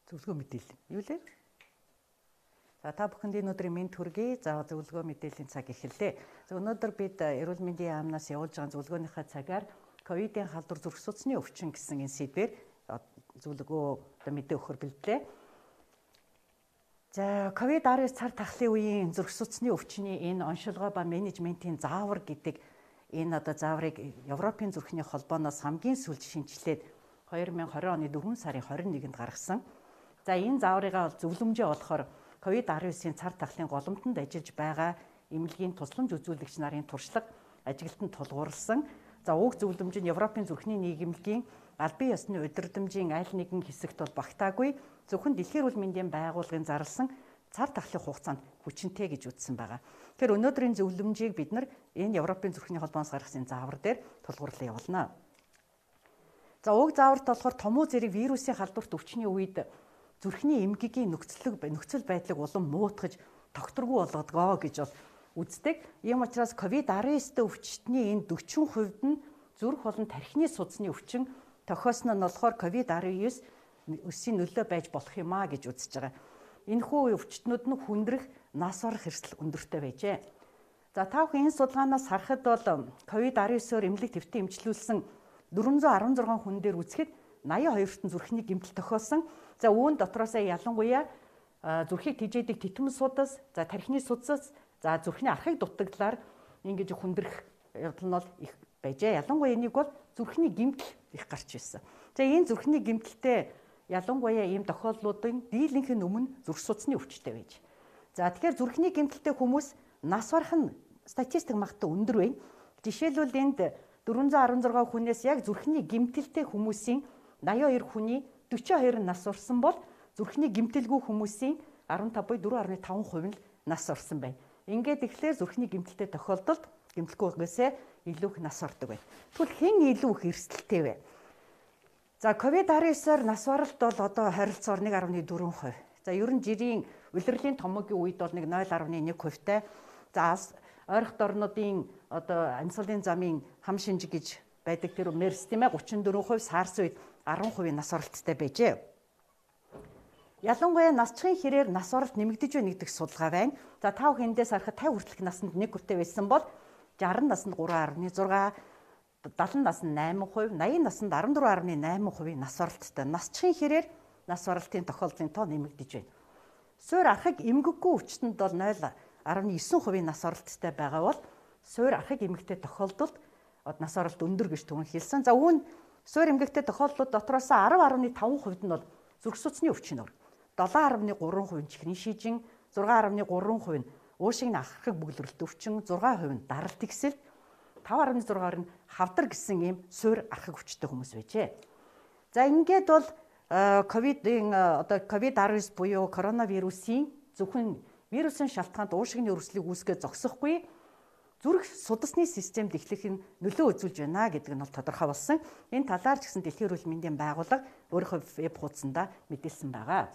зөвлөгөө мэдээлэл. Юу лээ? За та бүхэнд энэ өдрийн мэнд хүргэе. За зөвлөгөө мэдээллийн цаг эхэллээ. За өнөөдөр бид эрүүл мэндийн яамнаас явуулж байгаа зөвлөгөөнийхөө цагаар ковидын халдвар зүрх судасны өвчин гэсэн энэ сэдвээр зөвлөгөө мэдээ өгөхөр бэлдлээ. За ковид-19 цар тахлын үеийн зүрх судасны өвчний энэ оншилгоо ба менежментийн заавар гэдэг энэ зааврыг Европын зүрхний холбооноос хамгийн сүүлд шинжилээд 2020 оны 4 сарын 21-нд гаргасан. За энэ зааврыгаа зөвлөмжөө болохоор ковид-19-ийн цар тахлын голомтонд ажиллаж байгаа эмнэлгийн тусламж үзүүлэгч нарын туршлага ажилтнанд тулгуурласан. За уг зөвлөмж нь Европын зүрхний нийгэмлэгийн албан ёсны удирдамжийн аль нэгэн хэсэгт бол багтаагүй зөвхөн Дэлхийн эрүүл мэндийн байгууллагын зарласан цар тахлын хугацаанд хүчинтэй гэж үзсэн байгаа. Тэгэхээр өнөөдрийн зөвлөмжийг бид нар энэ Европын зүрхний холбооноос гаргасан заавар дээр тулгуурлан явуулна. За уг зааварт болохоор томуу зэрэг вирусын халдварт өвчний үед зүрхний эмгэгийн нөхцөл байдлыг улам муутгаж тогтворгүй болгодгоо гэж бол үздэг. Ийм учраас ковид-19 өвчтний энэ 40% нь зүрх болон тархины судасны өвчин тохиосон нь болохоор ковид-19-ийн нөлөө байж болох юм а гэж үзэж байгаа. Энэхүү өвчтнүүд нь хүндрэх, нас орох эрсдэл өндөртэй байжээ. За та бүхэн энэ судалгаанаас харахад бол ковид-19-оор эмнэлэг твтэн эмчилүүлсэн 416 хүн дээр үзэхэд 82-т зүрхний гэмтэл тохиолсон. За үүн дотроосоо ялангуяа зүрхийг тэжээдэг титмэн судас, за тархины судас, за зүрхний архыг дутагдлаар ингэж хүндрэх явдал нь бол их байжээ. Ялангуяа энийг бол зүрхний гэмтэл их гарч ирсэн. За энэ зүрхний гэмтэлтэй ялангуяа ийм тохиолдлуудын дийлэнх нь өмнө зүрх судасны өвчтэй байж. За тэгэхээр зүрхний гэмтэлтэй хүмүүс нас барах нь статистик магтаа өндөр байна. Жишээлбэл энд 416 хүнээс яг зүрхний гэмтэлтэй хүмүүсийн 82 хүний 42 нас урсан бол зүрхний гэмтэлгүй хүмүүсийн 15.4.5% нь нас орсон байна. Ингээд тэгэхээр зүрхний гэмтэлтэй тохиолдолд гэмтэлгүйгээсээ илүү их нас ордог байна. Тэгвэл хэн илүү их эрсдэлтэй вэ? За ковид-19-оор нас баралт бол одоо харилцаар 1.4%. За ер нь жирийн улирлын томоогийн үед бол 0.1%-тай. За ойрхон орнуудын одоо амьсгалын замын хам шинжиг гэж байдаг тэр MERS тийм ээ 34%, SARS үед 10% нас оролттой байжээ. Ялангуяа насчхын хэрээр нас оролт нэмэгдэж байна гэдэг судалгаа байна. За 5 хэндээс харахад 50 хүртэлх наснд 1%-тэй байсан бол 60 наснд 3.6, 70 наснд 8%, 80 наснд 14.8% нас оролттой. Насчхын хэрээр нас оролтын тохиолдлын тоо нэмэгдэж байна. Суурь архаг эмгэггүй өвчтөнд бол 0.9% нас оролттой байгаа бол суурь архаг эмгэгтэй тохиолдолд нас оролт өндөр гэж түрүүн хэлсэн. За үүн суурь эмгэгтэй тохиолдлууд дотроос 10.5% нь бол зүрх судасны өвчин өөр. 7.3% нь чихрийн шижин, 6.3% нь уушигны архаг бүглэрэлт өвчин, 6% нь даралт ихсэл, 5.6% нь хавдар гэсэн ийм суурь архаг өвчтэй хүмүүс байжээ. За ингээд бол ковид-19 буюу коронавирусын зөвхөн вирусын шалтгаанд уушигны өрсөлийг үүсгэж зогсохгүй зүрх судасны системд эхлэх нь нөлөө үзүүлж байна гэдэг нь бол тодорхой болсон. Энэ талаар ч гэсэн Дэлхийн эрүүл мэндийн байгууллага өөрийнхөө веб хуудсандаа мэдээлсэн байгаа.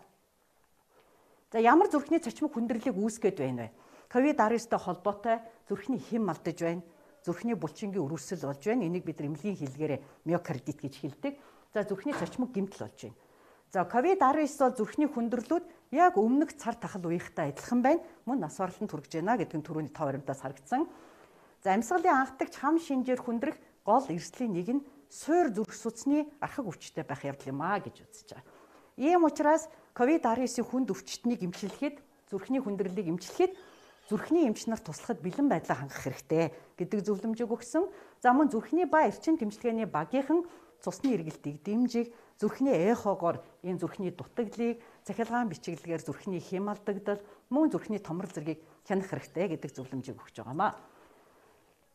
За ямар зүрхний цочмог хүндрэлийг үүсгэж байна вэ? Ковид-19-тэй холбоотой зүрхний хэм алдаж байна. Зүрхний булчингийн өрөвсөл болж байна. Энийг бид эмнэлгийн хэллэгээр миокардит гэж хэлдэг. За зүрхний цочмог гэмтэл болж байна. За ковид-19 бол зүрхний хүндрэлүүд яг өмнөх цар тахал үеийнхтэй адилхан байна. Мөн нас баралтанд хүрэж байна гэдэг нь түрүүний тав баримтаас харагдсан. За амьсгалын анхдагч хам шинжээр хүндрэх гол эрсдлийн нэг нь суурь зүрх судасны архаг өвчтэй байх явдал юм а гэж үзэж байгаа. Ийм учраас ковид-19-ийн хүнд өвчтнийг эмчлэхэд, зүрхний хүндрэлийг эмчлэхэд зүрхний эмч нар туслахад бэлэн байдлаа хангах хэрэгтэй гэдэг зөвлөмжийг өгсөн. За мөн зүрхний ба эрчим тэмчилгээний багийнхан цусны эргэлтийг дэмжих, зүрхний эхогоор энэ зүрхний дутагдлыг, цахилгаан бичиглэгээр зүрхний хэм алдагдал, мөн зүрхний томрол зэргийг хянах хэрэгтэй гэдэг зөвлөмжийг өгч байгаамаа.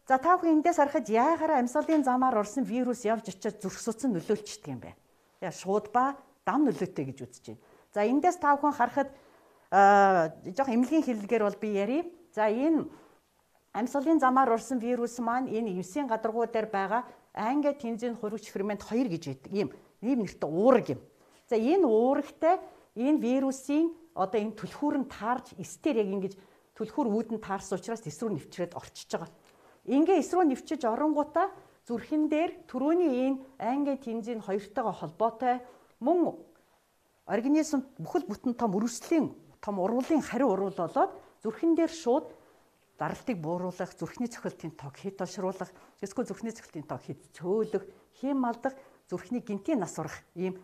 За та бүхэн эндээс харахад яагаад амьсгалын замаар орсон вирус явж очиад зүрх судас нь нөлөөлчдөг юм бэ? Яа шууд ба дам нөлөөтэй гэж үзэж байна. За эндээс та бүхэн харахад жоох эмнэлгийн хэллэгээр бол би ярив. За энэ амьсгалын замаар орсон вирус маань энэ 9 гадаргуу дээр байгаа ангиа тензин хурвч фермент 2 гэж байдаг ийм нэртэй уураг юм. За энэ уурагтай энэ вирусын одоо энэ түлхүүр нь таарж эстер яг ингэж түлхүүр үүдэн таарсан учраас эс рүү нэвчрээд орчиж байгаа. Ингээ эс рүү нэвчиж оронгуудаа зүрхэн дээр түрүүний энэ ангиа тензин 2-тойгоо холбоотой мөн организм бүхэл бүтэн том өрөслийн том уруулын хариу урвал болоод зүрхэн дээр шууд даралтыг бууруулах, зүрхний цохилтын тоог хэд олшруулах, эсвэл зүрхний цохилтын тоог хэд цөөлөх, хэм алдах, зүрхний гинтийн нас урах ийм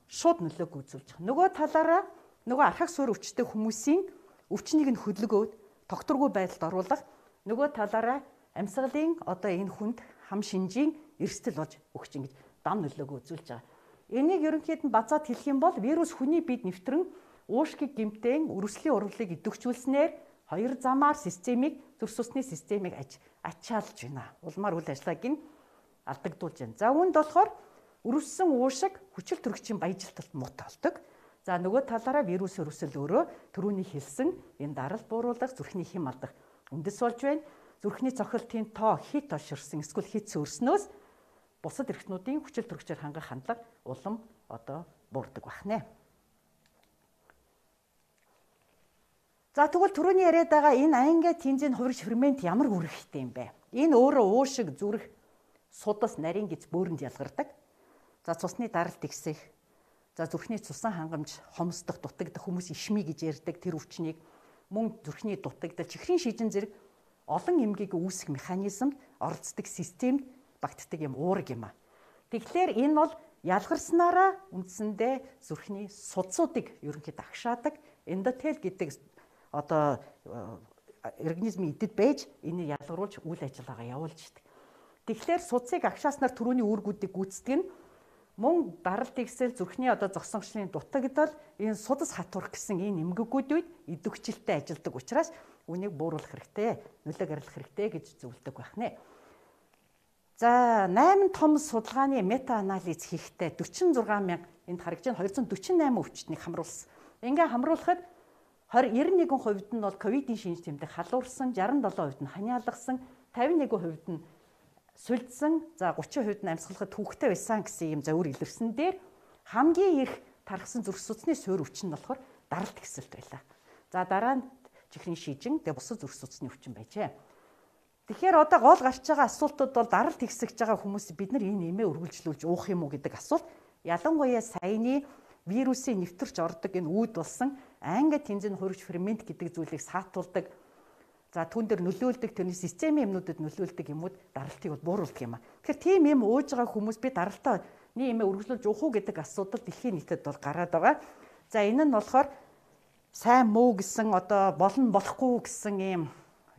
шууд нөлөөг үзүүлж байгаа. Нөгөө талаараа нөгөө архаг суурь өвчтэй хүмүүсийн өвчнийг нь хөдөлгөөд тогтворгүй байдалд оруулах, нөгөө талаараа амьсгалын одоо энэ хүнд хам шинжийн эрсдэл болж өгч ингэж дам нөлөөг үзүүлж байгаа. Энийг ерөнхийд нь базаад хэлэх юм бол вирус хүний биед нэвтрэн уушгийг гэмтэн өрөслийн урвалыг идэвхжүүлснээр хоёр замаар системийг зүрх судасны системийг ачаалж байна. Улмаар үйл ажиллагааг нь алдагдуулж байна. За үүнд болохоор өрөссөн уушиг хүчил төрөгчийн баяжилталд муутай болдог. За нөгөө талаараа вирус өрөсөл өөрөө түрүүний хэлсэн энэ даралт бууруулах, зүрхний хэм алдах үндэс болж байна. Зүрхний цохилтын тоо хит олширсан эсвэл хит цөөрснөөс бусад эрхтнүүдийн хүчил төрөгчөөр хангах хандлага улам одоо буурдаг байна. За тэгвэл түрүүний яриад байгаа энэ ангиа тензийн хувирч фермент ямар үүрэгтэй юм бэ? Энэ өөрөө уушиг, зүрх, судас, нарийн гиз бөөрөнд ялгардаг. За цусны даралт ихсэх, за зүрхний цусан хангамж хомсдох, дутагдах, хүмүүс ишмий гэж ярьдаг тэр өвчнийг мөн зүрхний дутагдал, чихрийн шижин зэрэг олон эмгээг үүсгэх механизмд оролцдог системд багтдаг юм уурэг юм а. Тэгэхээр энэ бол ялгарснараа үндсэндээ зүрхний судсуудыг ерөнхийдөө агшаадаг эндотел гэдэг одоо организмын идэд байж энийг ялгаруулж үйл ажиллагаа явуулж идэг. Тэгэхээр судсыг агшааснаар түрүүний үүргүүдийг гүйцэтгэх нь мөн даралт ихсэл зүрхний одоо зогсонгочлын дутагдал энэ судас хатуурах гэсэн энэ эмгэгүүдүүд идэвхжилтэй ажилладаг учраас үнийг бууруулах хэрэгтэй, нөлөөг арилгах хэрэгтэй гэж зөвлөдөг байна. За 8 том судалгааны мета анализ хийхдээ 46,000 энд харагдж байна 248 өвчтнийг хамруулсан. Ингээ хамруулахад 91% нь бол ковидын шинж тэмдэг халуурсан, 67% нь ханиалгасан, 51% нь сульдсан, за 30% нь амьсгалахад төвөгтэй байсан гэсэн юм зөвөр илэрсэн дээр хамгийн их тархсан зүрх судасны суурь өвчин нь болохоор даралт ихсэлт байлаа. За дараа нь чихрийн шижин, тэгээ бусад зүрх судасны өвчин байжээ. Тэгэхээр одоо гол гарч байгаа асуултууд бол даралт ихсэж байгаа хүмүүс бид нар энэ нэмээ үргэлжлүүлж уух юм уу гэдэг асуулт. Ялангуяа саяны вирусын нэвтэрч ордог энэ үүд болсон ангиа тензийн хувирч фермент гэдэг зүйлийг саатуулдаг. За түүн дээр нөлөөлдөг тэрний системийн юмнуудад нөлөөлдөг юмуд даралтыг бол бууруулдаг юм а. Тэгэхээр тийм юм ууж байгаа хүмүүс би даралтаа нэмээ үргэлжлүүлж уух уу гэдэг асуудал дэлхийн нийтэд бол гараад байгаа. За энэ нь болохоор сайн муу гэсэн одоо болно болохгүй гэсэн ийм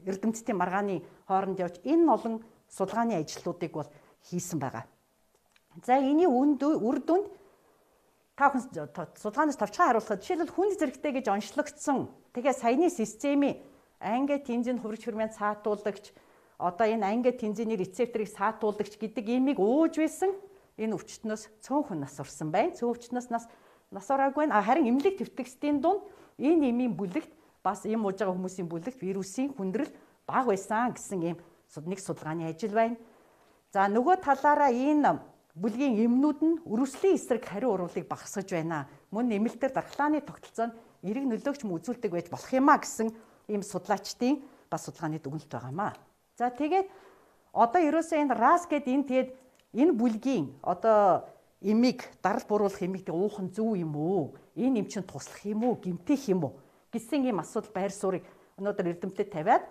эрдэмтдийн маргааны хооронд явж энэ олон судалгааны ажлуудыг бол хийсэн байгаа. За энэний үр дүнд та хүн судалгаанаас товчхон харуулхад жишээлбэл хүнд зэрэгтэй гэж онцлогдсон. Тэгээ саяны системийн ангиа тензийн хувирч фермент саатуулагч одоо энэ ангиа тензийн рецепторыг саатуулагч гэдэг имийг ууж байсан энэ өвчтнөөс цөөнхөн нас орсон байна. Цөөн өвчтнөөс нас ороогүй байна. Харин эмнэлэг төвтгсдийн дунд энэ имийн бүлэгт бас им ууж байгаа хүмүүсийн бүлэгт вирусын хүндрэл бага байсан гэсэн ийм нэг судалгааны ажил байна. За нөгөө талаараа энэ бүлгийн эмнүүд нь өрөслийн эсрэг хариу урвалыг багасгаж байна. Мөн нэмэлтээр дархлааны тогтолцоонд эрэг нөлөөгч үзүүлдэг байж болох юмаа гэсэн ийм судлаачдын бас судалгааны дүгнэлт байгаамаа. За тэгээд одоо ерөөсөө энэ RAS гэдэг энэ тэгээд энэ бүлгийн одоо эмийг даралт бууруулах эмийг уух нь зөв юм уу? Энэ эм чинь туслах юм уу? Гэмтэх юм уу? Гэсэн ийм асуудал байр суурийг өнөөдөр эрдэмтэд тавиад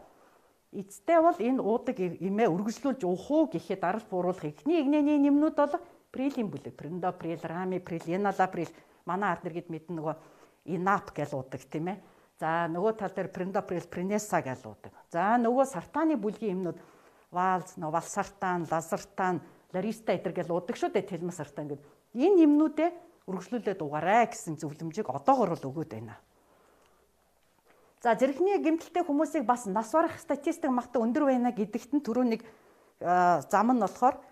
эцтэй бол энэ уудаг эмээ үргэлжлүүлж уух уу гэхэд даралт бууруулах эхний игнэний нэмнүүд бол прилийн бүлэг, прендоприл, рамиприл, еналаприл, манай ард нэргэд мэднэ нөгөө инап гэж уудаг тийм ээ. За нөгөө тал дээр прендоприл, принеса гэж уудаг. За нөгөө сартаны бүлгийн эмнүүд валз, валсартан, лазартан, лариста эдэр гэж уудаг шүү дээ, телмасартан гэдэг. Энэ эмнүүдээ үргэлжлүүлээд угаарай гэсэн зөвлөмжийг одоогор бол өгөөд байна. За зэрэгний гэмтэлтэй хүмүүсийг бас нас барах статистик магтаа өндөр байна гэдэгт нь түрүү нэг зам нь болохоор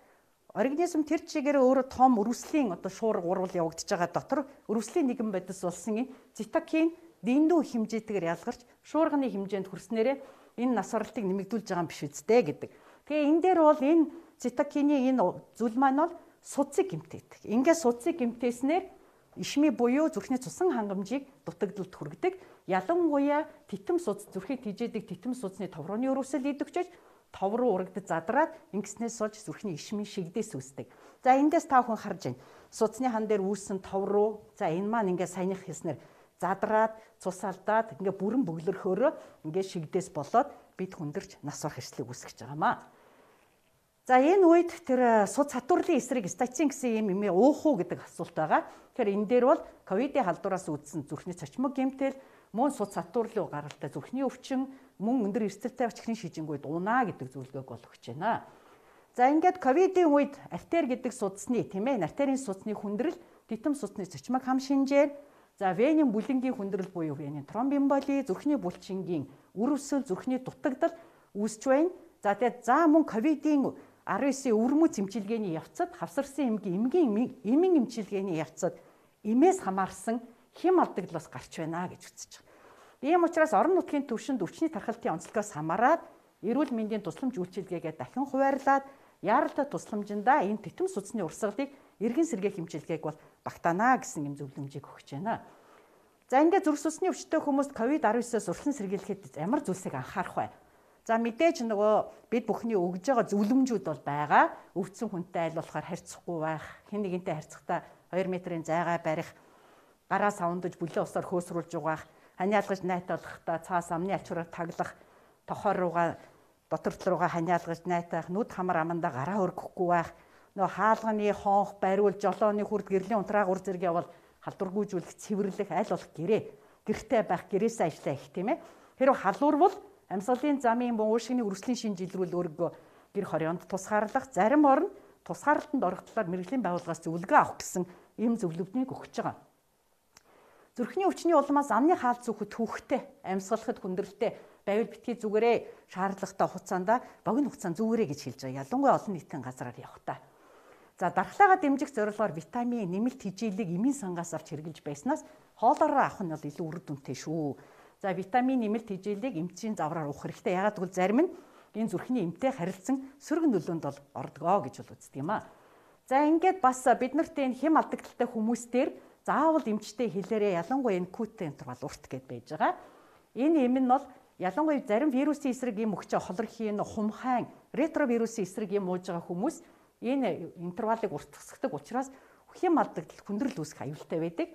организм тэр чигээр өөрөө том өрөслийн одоо шуурга урвал явагдаж байгаа дотор өрөслийн нэгэн бодис болсон энэ цитокин дэндүү хэмжээтэйгээр ялгарч шуурганы хэмжээнд хүрснээрээ энэ нас баралтыг нэмэгдүүлж байгаа юм биш үстэй гэдэг. Тэгээ энэ дээр бол энэ цитокины энэ зүйл маань бол судсыг гэмтээдэг. Ингээд судсыг гэмтээснээр ишми буюу зүрхний цусан хангамжийг дутагдалд хүргэдэг. Ялангуяа титэм судас зүрхийг тижээдэг титэм судасны товрооны өрөөсөл идэвхжиж тов руу урагдаж задраад ингэснээс болж зүрхний ишмийн шигдээс үүсдэг. За эндээс та бүхэн харж байна. Судасны хан дээр үүссэн тов руу за энэ маань ингээд саяных хэлснээр задраад, цус алдаад ингээд бүрэн бөглөрхөөрөө ингээд шигдээс болоод бид хүндэрч нас барах эрсдлийг үүсгэж байгаамаа. За энэ үед тэр суд сатуурлын эсрэг статин гэсэн юм эмээ уух уу гэдэг асуулт байгаа. Тэгэхээр энэ дээр бол ковидын халдвараас үүдсэн зүрхний цочмог гэмтэл, мөн суд сатуурлын гаралтай зүрхний өвчин, мөн өндөр эрсдэлтэй чихрийн шижингүүд унаа гэдэг зөвлөгөөг бол өгч байна. За ингээд ковидын үед артер гэдэг судасны тийм ээ, артерийн судасны хүндрэл, титэм судасны цочмог хам шинжээр, за венийн бүлэнгийн хүндрэл буюу венийн тромбоэмболи, зүрхний булчингийн үр өсөл, зүрхний дутагдал үүсч байна. За тэгээд мөн ковидын 19 өвөрмөц эмчилгээний явцад хавсарсан эмгийн эмийн эмчилгээний явцад эмээс хамаарсан хэм алдагдлаас гарч байна гэж үзэж байгаа. Ийм учраас орон нутгийн түвшинд өвчний тархалтын онцлогоос хамаарат эрүүл мэндийн тусламж үйлчилгээгээ дахин хуваарлаад яаралтай тусламжиндаа энэ титэм судасны урсгалыг эргэн сэргээх эмчилгээг бол багтаана гэсэн юм зөвлөмжийг өгч байна. За ингээд зүрх судасны өвчтөй хүмүүст COVID-19-ос урьдчилан сэргийлэхэд ямар зүйлсийг анхаарах вэ? За мэдээж нөгөө бид бүхний өгж байгаа зөвлөмжүүд бол байгаа. Өвдсөн хүнтэй аль болохоор харьцахгүй байх, хэн нэгэнтэй харьцахдаа 2 метрийн зайгаа барих, гараа савндаж бүлээн усаар хөөсрүүлж угаах, ханиалгаж найтаалахдаа цаас амны ачаараар таглах, тохоор руугаа дотор руугаа ханиалгаж найтаах, нүд хамар амандаа гараа өргөхгүй байх, нөгөө хаалганы хонх, бариул, жолооны хүрд гэрлийн унтраагур зэрэг явал халдваргүйжүүлэх, цэвэрлэх, аль болох гэртээ байх, гэрээсээ ажиллаа их тийм ээ. Хэрвээ халуурвал амьсгалын замын уушгины өрсөлийн шинж илрүүл өөргөө гэр хорионд тусгаарлах, зарим орн тусгаарлалтанд орох талаар мэргэжлийн байгууллагаас зөвлөгөө авах гэсэн ийм зөвлөгөөнийг өгч байгаа. Зүрхний өвчний улмаас амны хаалт зүөхөд түүхтэй, амьсгалахад хүндрэлтэй байвал битгий зүгээрээ шаардлагатай хугацаанд богино хугацаанд зүгээрээ гэж хэлж байгаа. Ялангуяа олон нийтийн газраар явахдаа. За дархлаагаа дэмжих зорилгоор витамин, нэмэлт хижээлийг эмийн сангаас авч хэрглэж байснаас хоолоороо авах нь бол илүү үр дүнтэй шүү. За витамин, нэмэлт хижээлийг эмчийн завраар уух хэрэгтэй. Яагаад гэвэл зарим нь энэ зүрхний эмтэй харилцсан сөрөг нөлөөнд бол ордгоо гэж бол үздэг юм аа. За ингээд бас бид нарт энэ хэм алдагдaltaй хүмүүстээр заавал эмчтэй хэлээрээ ялангуяа энэ күүтэй интервал урт гэд байж байгаа. Энэ эм нь бол ялангуяа зарим вирусын эсрэг юм өгч холрохын, хумхайн, ретровирусын эсрэг юм ууж байгаа хүмүүс энэ интервалыг уртгасгадаг учраас хэм алдагдал, хүндрэл үүсэх аюултай байдаг.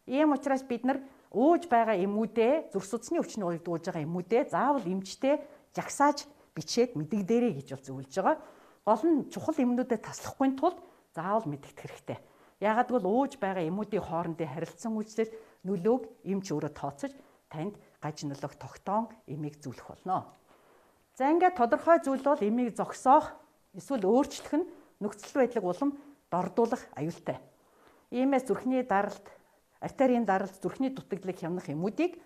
Ийм учраас бид нар ууж байгаа эмүүдээ, зүрх судасны өвчний үед ууж байгаа эмүүдээ заавал эмчтэй жагсааж бичээд мэдэгдээрэй гэж бол зөвлөж байгаа. Гол нь чухал эмнүүдэд таслахгүй тулд заавал мэдэгдэх хэрэгтэй. Яагаад гэвэл ууж байгаа эмүүдийн хоорондын харилцан үйлчлэл нөлөөг эмч өөрөө тооцож танд гаж нөлөөх тогтоон эмийг зөвлөх болно. За ингээд тодорхой зүйл бол эмийг зогсоох эсвэл өөрчлөх нь нөхцөл байдлыг улам дордуулах аюултай. Иймээс зүрхний даралт, артерийн даралт, зүрхний дутагдлыг хямнах эмүүдийг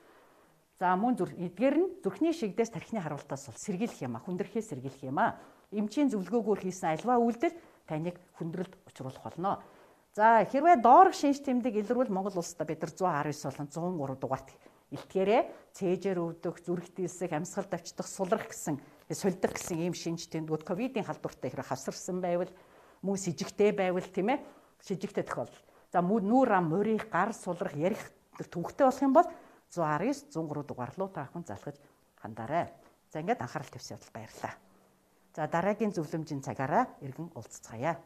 мөн эдгээр нь зүрхний шигдээс тархины харуултаас бол сэргийлэх юм а, хүндрэхээс сэргийлэх юм а. Эмчийн зөвлөгөөгөөр хийсэн альва үйлдэл таныг хүндрэлд учруулах болно. За хэрвээ доорх шинж тэмдэг илрүүл Монгол улсад бид нар 119 болон 103 дугаарт илтгээрээ цээжээр өвдөх, зүрх дийлсэх, амьсгал давчдах, сулрах гэсэн, сулдах гэсэн ийм шинж тэмдгүүд ковидын халдвартай хэрэг хавсарсан байвал, мөн с ижигтэй байвал тийм ээ, с ижигтэй тохиолдол. За нүүр ам, морих, гар сулрах, ярих төвхтэй болох юм бол 119, 103 дугаар руу та бүхэн залгаж хандаарай. За ингээд анхаарал тавьсан явдал баярлалаа. За дараагийн зөвлөмжийн цагаараа иргэн уулзцаая.